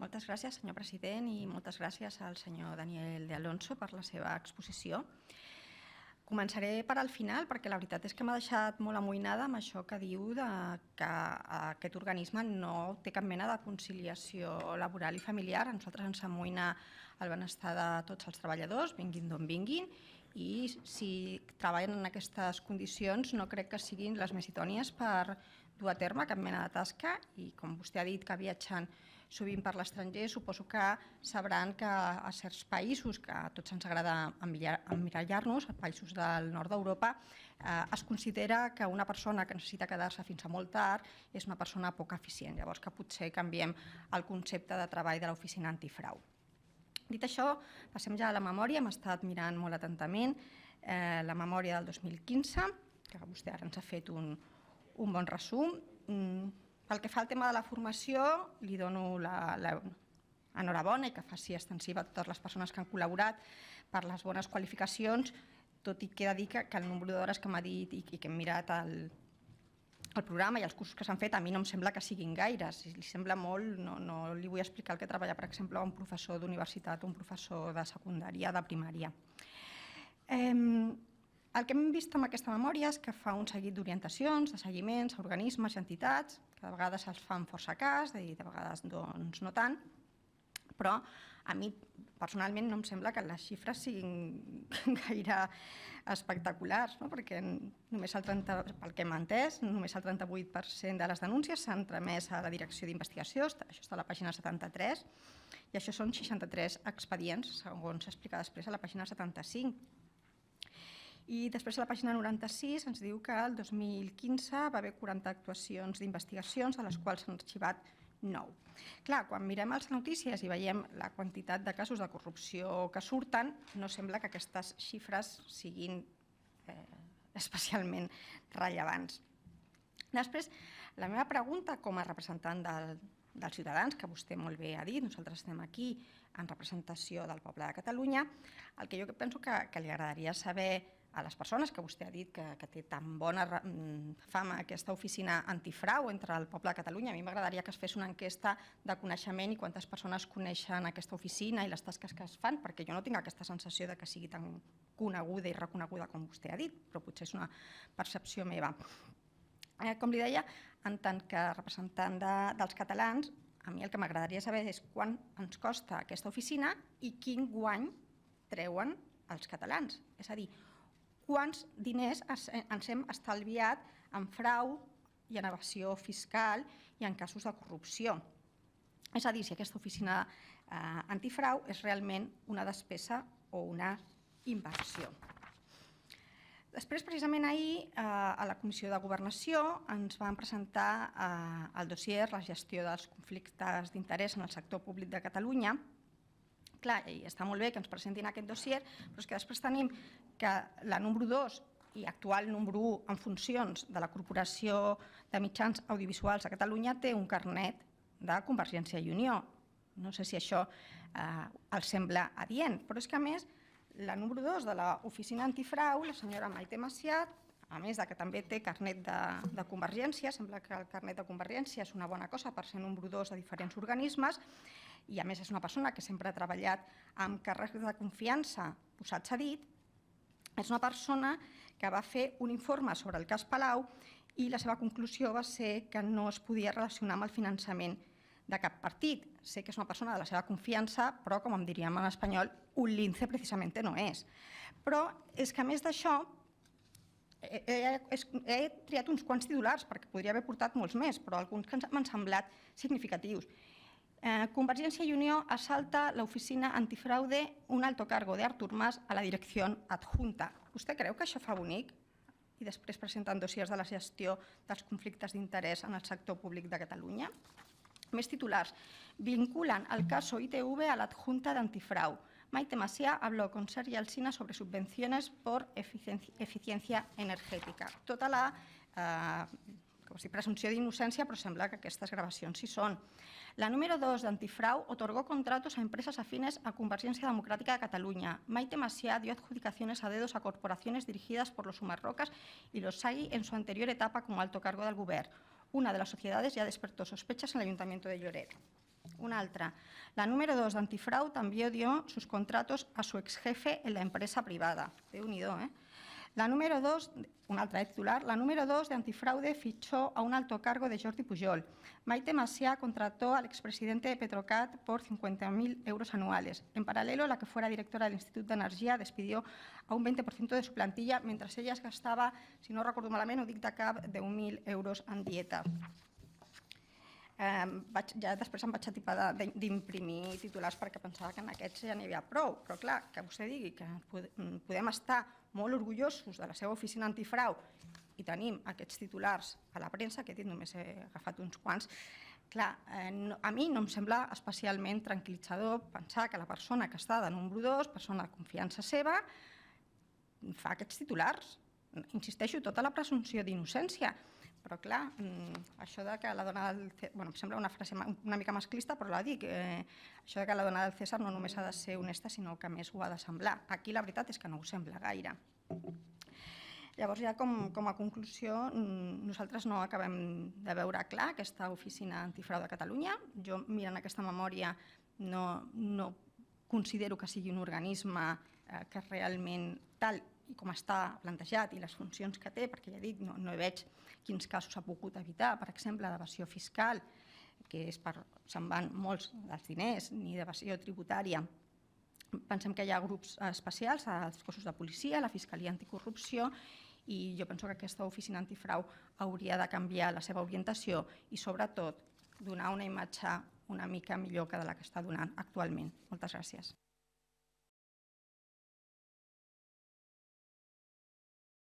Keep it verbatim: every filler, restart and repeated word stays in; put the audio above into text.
Moltes gràcies, senyor president, i moltes gràcies al senyor Daniel de Alonso per la seva exposició. Començaré per al final, perquè la veritat és que m'ha deixat molt amoïnada amb això que diu que aquest organisme no té cap mena de conciliació laboral i familiar. A nosaltres ens amoïna el benestar de tots els treballadors, vinguin d'on vinguin, i si treballen en aquestes condicions no crec que siguin les més idònies per dur a terme cap mena de tasca. I com vostè ha dit que viatgen sovint per l'estranger, suposo que sabran que a certs països, que a tots ens agrada emmirallar-nos, a països del nord d'Europa, es considera que una persona que necessita quedar-se fins a molt tard és una persona poc eficient. Llavors que potser canviem el concepte de treball de l'oficina antifrau. Dit això, passem ja a la memòria. Hem estat mirant molt atentament la memòria del dos mil quinze, que vostè ara ens ha fet un bon resum. Pel que fa al tema de la formació, li dono l'enhorabona i que faci extensiva a totes les persones que han col·laborat per les bones qualificacions, tot i que he de dir que el nombre d'hores que m'ha dit i que hem mirat el programa i els cursos que s'han fet, a mi no em sembla que siguin gaires. Si li sembla molt, no li vull explicar el que treballa, per exemple, un professor d'universitat o un professor de secundària, de primària. El que hem vist amb aquesta memòria és que fa un seguit d'orientacions, de seguiments a organismes i entitats, que de vegades els fan força cas i de vegades no tant, però a mi personalment no em sembla que les xifres siguin gaire espectaculars, perquè només el trenta, pel que hem entès, només el trenta-vuit per cent de les denúncies s'han tramès a la direcció d'investigació, això està a la pàgina setanta-tres, i això són seixanta-tres expedients, segons s'explica després a la pàgina setanta-cinc. I després a la pàgina noranta-sis ens diu que el dos mil quinze va haver quaranta actuacions d'investigacions, de les quals s'han arxivat nou. Clar, quan mirem les notícies i veiem la quantitat de casos de corrupció que surten, no sembla que aquestes xifres siguin especialment rellevants. Després, la meva pregunta com a representant dels ciutadans, que vostè molt bé ha dit, nosaltres estem aquí en representació del poble de Catalunya, el que jo penso que li agradaria saber a les persones, que vostè ha dit que té tan bona fama aquesta oficina antifrau entre el poble de Catalunya, a mi m'agradaria que es fes una enquesta de coneixement i quantes persones coneixen aquesta oficina i les tasques que es fan, perquè jo no tinc aquesta sensació que sigui tan coneguda i reconeguda com vostè ha dit, però potser és una percepció meva. Com li deia, en tant que representant dels catalans, a mi el que m'agradaria saber és quant ens costa aquesta oficina i quin guany treuen els catalans. És a dir, quants diners ens hem estalviat en frau i en evasió fiscal i en casos de corrupció. És a dir, si aquesta oficina antifrau és realment una despesa o una inversió. Després, precisament ahir, a la Comissió de Governació ens van presentar el dossier La gestió dels conflictes d'interès en el sector públic de Catalunya. Clar, i està molt bé que ens presentin aquest dossier, però és que després tenim que la número dos i actual número u en funcions de la Corporació de Mitjans Audiovisuals de Catalunya té un carnet de Convergència i Unió. No sé si això els sembla adient, però és que a més la número dos de l'oficina antifrau, la senyora Maite Macià, a més que també té carnet de Convergència, sembla que el carnet de Convergència és una bona cosa per ser número dos de diferents organismes, i a més és una persona que sempre ha treballat amb càrrecs de confiança posats a dit, és una persona que va fer un informe sobre el cas Palau i la seva conclusió va ser que no es podia relacionar amb el finançament de cap partit. Sé que és una persona de la seva confiança, però, com em diríem en espanyol, un lince precisament no és. Però és que, a més d'això, he triat uns quants titulars, perquè podria haver portat molts més, però alguns que m'han semblat significatius. Convergència i Unió asalta la oficina antifraude un alto cargo de Artur Mas a la direcció adjunta. Vostè creu que això fa bonic? I després presenten dossiers de la gestió dels conflictes d'interès en el sector públic de Catalunya. Més titulars. Vinculan el caso I T V a la adjunta de antifrau. Maite Macià habló con Sergi Alsina sobre subvenciones por eficiencia energética. Tota la presumpció d'innocència, però sembla que aquestes gravacions sí són. La número dos de Antifrau otorgó contratos a empresas afines a Convergencia Democrática de Cataluña. Maite Macià dio adjudicaciones a dedos a corporaciones dirigidas por los Sumarrocas y los Sagui en su anterior etapa como alto cargo del Govern. Una de las sociedades ya despertó sospechas en el Ayuntamiento de Lloret. Una altra. La número dos de antifraude también dio sus contratos a su ex jefe en la empresa privada. Déu-n'hi-do, ¿eh? La número dos, una altra titular, la número dos de antifraude fichó a un alto cargo de Jordi Pujol. Maite Macià contrató al expresidente de Petrocat por cincuenta mil euros anuales. En paralelo, la que fuera directora del Instituto de Energía despidió a un veinte por ciento de su plantilla, mientras ella es gastava, si no recordo malament, ho dic de cap, deu mil euros en dieta. Eh, vaig, ja després em vaig atipar d'imprimir titulars perquè pensava que en aquests ja n'hi havia prou, però clar, que vostè digui que podem estar molt orgullosos de la seva oficina antifrau i tenim aquests titulars a la premsa, que he dit només he agafat uns quants, clar, eh, no, a mi no em sembla especialment tranquil·litzador pensar que la persona que està de número dos, persona de confiança seva, fa aquests titulars. Insisteixo, tota la presumpció d'innocència, però clar, això de que la dona del César, bueno, em sembla una frase una mica masclista, però la dic, eh, això de que la dona del César no només ha de ser honesta, sinó que més ho ha de semblar. Aquí la veritat és que no ho sembla gaire. Llavors, ja com, com a conclusió, nosaltres no acabem de veure clar aquesta oficina antifrau de Catalunya. Jo, mirant aquesta memòria, no, no considero que sigui un organisme eh, que realment tal i com està plantejat i les funcions que té, perquè ja dic, no, no veig quins casos ha pogut evitar, per exemple, d'evasió fiscal, que és per, se'n van molts dels diners, ni d'evasió tributària. Pensem que hi ha grups especials als cossos de policia, la Fiscalia Anticorrupció, i jo penso que aquesta oficina antifrau hauria de canviar la seva orientació i, sobretot, donar una imatge una mica millor que de la que està donant actualment. Moltes gràcies.